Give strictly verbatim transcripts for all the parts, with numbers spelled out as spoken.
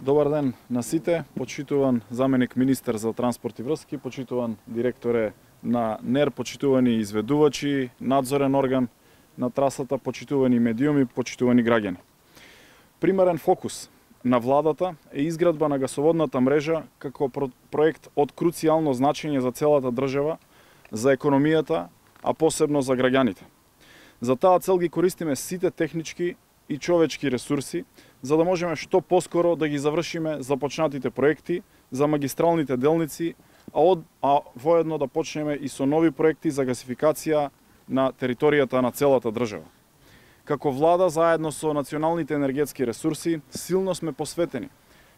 Добар ден на сите, почитуван заменик министер за транспорт и врски, почитуван директоре на НЕР, почитувани изведувачи, надзорен орган на трасата, почитувани медиуми, почитувани граѓани. Примерен фокус на владата е изградба на гасоводната мрежа како проект од круцијално значење за целата држава, за економијата, а посебно за граѓаните. За таа цел ги користиме сите технички и човечки ресурси, за да можеме што поскоро да ги завршиме започнатите проекти за магистралните делници, а, од, а воедно да почнеме и со нови проекти за гасификација на територијата на целата држава. Како влада, заедно со националните енергетски ресурси, силно сме посветени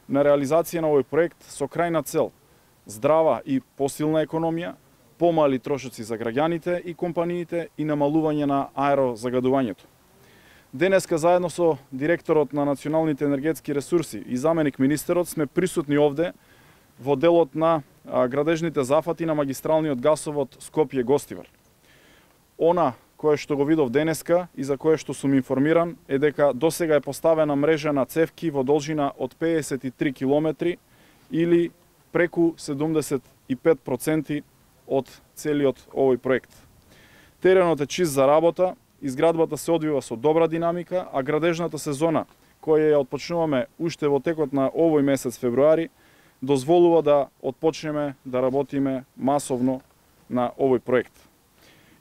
на реализација на овој проект со крајна цел здрава и посилна економија, помали трошоци за граѓаните и компаниите и намалување на аерозагадувањето. Денеска заедно со директорот на националните енергетски ресурси и заменик министерот сме присутни овде во делот на градежните зафати на магистралниот гасовод Скопје-Гостивар. Она кое што го видов денеска и за кое што сум информиран е дека досега е поставена мрежа на цевки во должина од педесет и три километри или преку седумдесет и пет проценти од целиот овој проект. Теренот е чист за работа, изградбата се одвива со добра динамика, а градежната сезона, која ја отпочнуваме уште во текот на овој месец февруари, дозволува да отпочнеме да работиме масовно на овој проект.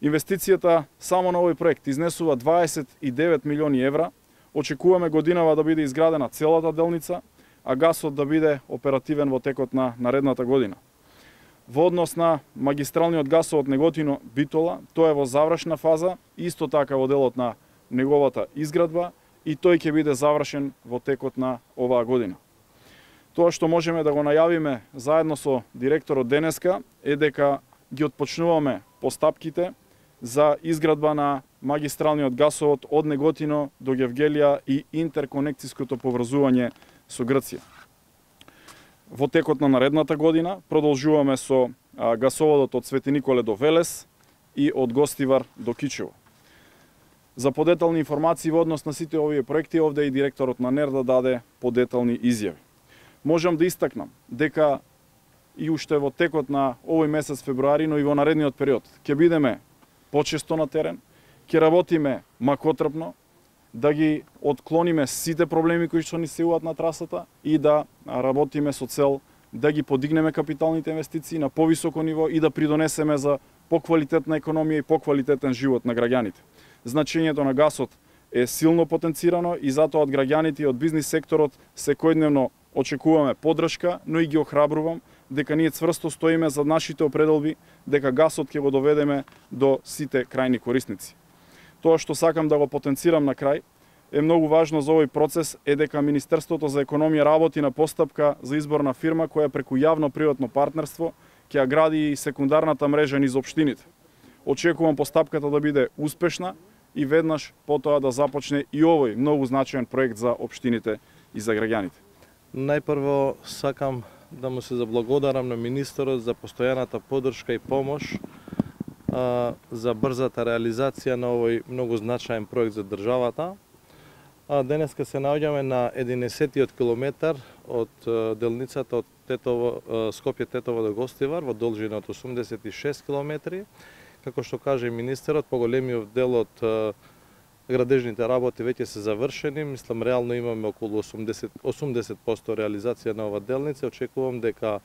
Инвестицијата само на овој проект изнесува дваесет и девет милиони евра. Очекуваме годинава да биде изградена целата делница, а гасот да биде оперативен во текот на наредната година. Во однос на магистралниот гасовод Неготино-Битола, тој е во завршна фаза, исто така во делот на неговата изградба и тој ќе биде завршен во текот на оваа година. Тоа што можеме да го најавиме заедно со директорот денеска е дека ги отпочнуваме постапките за изградба на магистралниот гасовод од Неготино до Гевгелија и интерконекцијското поврзување со Грција. Во текот на наредната година продолжуваме со гасоводот од Свети Николе до Велес и од Гостивар до Кичево. За подетални информации во однос на сите овие проекти, овде и директорот на НЕР да даде подетални изјави. Можам да истакнам дека и уште во текот на овој месец февруари, но и во наредниот период, ќе бидеме почесто на терен, ќе работиме макотрпно, да ги отклониме сите проблеми кои што ни се јавуваат на трасата и да работиме со цел да ги подигнеме капиталните инвестиции на повисоко ниво и да придонесеме за поквалитетна економија и поквалитетен живот на граѓаните. Значењето на гасот е силно потенцирано и затоа од граѓаните и од бизнис секторот секојдневно очекуваме поддршка, но и ги охрабрувам дека ние цврсто стоиме за нашите определби, дека гасот ќе го доведеме до сите крајни корисници. Тоа што сакам да го потенцирам на крај е многу важно за овој процес е дека Министерството за економија работи на постапка за избор на фирма која преку јавно-приватно партнерство ќе ја гради и секундарната мрежа низ општините. Очекувам постапката да биде успешна и веднаш потоа да започне и овој многу значаен проект за општините и за граѓаните. Најпрво сакам да му се заблагодарам на министерот за постојаната поддршка и помош а, за брзата реализација на овој многу значаен проект за државата. А, денеска се наоѓаме на единесеттиот километар од а, делницата од Тетово, Скопје-Тетово до Гостивар во должина од осумдесет и шест километри. Како што каже министерот, поголемиот дел од а, градежните работи веќе се завршени. Мислам, реално имаме околу осумдесет, осумдесет проценти реализација на ова делница. Очекувам дека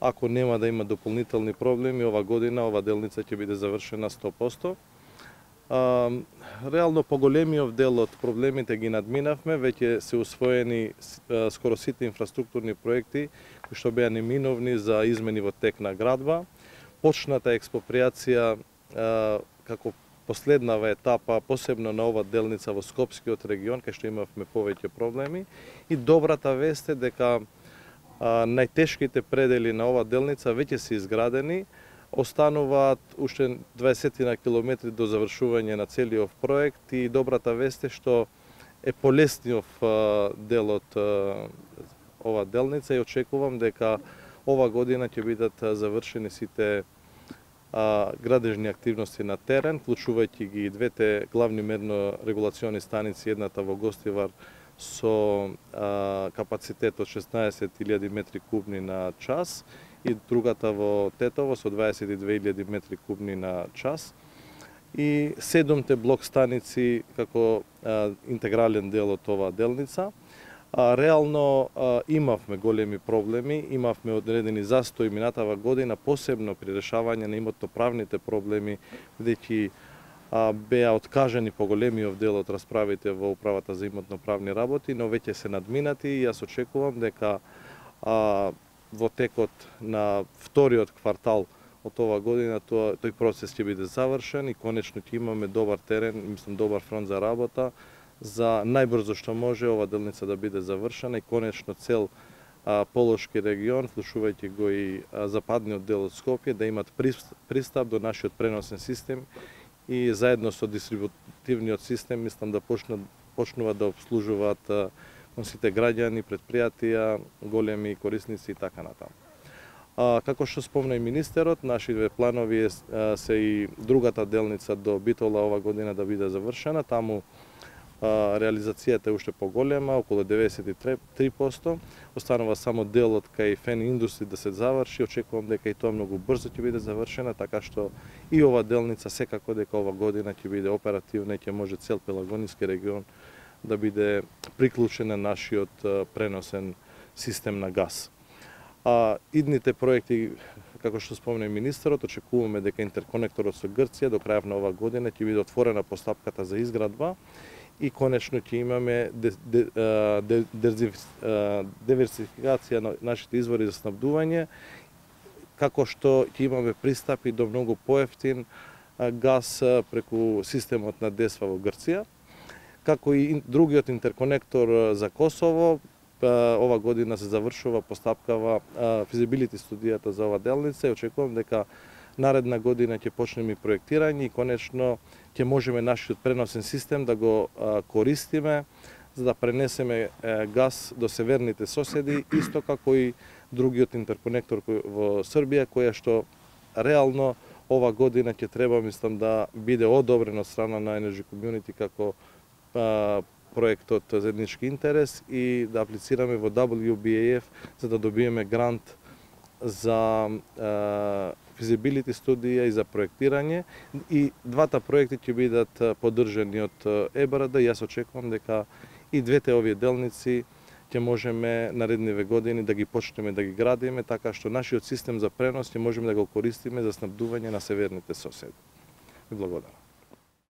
ако нема да има дополнителни проблеми, ова година ова делница ќе биде завршена сто проценти. А, реално поголемиот дел од проблемите ги надминавме, веќе се усвоени а, скоро сите инфраструктурни проекти кои што беа неминовни за измени во тек на градба. Почната експроприација а, како последнава етапа, посебно на ова делница во Скопскиот регион, кај што имавме повеќе проблеми. И добрата вест е дека а, најтешките предели на ова делница веќе се изградени, остануваат уште дваесет на километри до завршување на целиот проект и добрата вест е што е полесниот дел од ова делница и очекувам дека ова година ќе бидат завршени сите а, градежни активности на терен, вклучувајќи ги двете главни мерно регулациони станици, едната во Гостивар, со а, капацитет од шеснаесет илјади метри кубни на час и другата во Тетово со дваесет и две илјади метри кубни на час. И седумте блок станици како а, интегрален дел од оваа делница. А, реално а, имавме големи проблеми, имавме одредени застои минатава година, посебно при решавање на имотно-правните проблеми, бидејќи беа откажани поголемиот дел од расправите во управата за имотно-правни работи, но веќе се надминати и јас очекувам дека а, во текот на вториот квартал од оваа година тоа, тој процес ќе биде завршен и конечно ќе имаме добар терен, мислам добар фронт за работа, за најбрзо што може ова делница да биде завршена и конечно цел а, Полошки регион, вклучувајќи го и а, западниот дел од Скопје, да имат пристап до нашиот преносен систем и заедно со дистрибутивниот систем мислам да почнат почнуваат да обслужуваат а, сите граѓани, предпријатија, големи корисници и така натаму. А, како што спомна и министерот, нашите планови а, се и другата делница до Битола ова година да биде завршена. Таму а, реализацијата е уште поголема, околу деветдесет и три проценти. Останува само делот кај Фен Индустри да се заврши. Очекувам дека и тоа многу брзо ќе биде завршена, така што и ова делница секако дека ова година ќе биде оперативна и ќе може цел Пелагонски регион да биде приклучен на нашиот преносен систем на газ. А идните проекти, како што спомна и министерот, очекуваме дека интерконекторот со Грција до крајот на оваа година ќе биде отворена постапката за изградба и конечно ќе имаме диверсификација на нашите извори за снабдување, како што ќе имаме пристапи до многу поевтин газ преку системот на Десва во Грција, како и другиот интерконектор за Косово. Ова година се завршува постапкава физибилити студијата за ова делница и очекувам дека наредна година ќе почнеме и проектирање и конечно ќе можеме нашиот преносен систем да го користиме за да пренесеме газ до северните соседи, исто како и другиот интерконектор во Србија, која што реално ова година ќе треба, мислам, да биде одобрен од страна на Energy Community како проектот заеднички интерес и да аплицираме во дабл ю би ей еф за да добиеме грант за физибилити студија и за проектирање. И двата проекти ќе бидат поддржани од Е Б Р Д. Јас очекувам дека и двете овие делници ќе можеме наредниве години да ги почнеме да ги градиме, така што нашиот систем за пренос ќе можеме да го користиме за снабдување на северните соседи. Ви благодарам.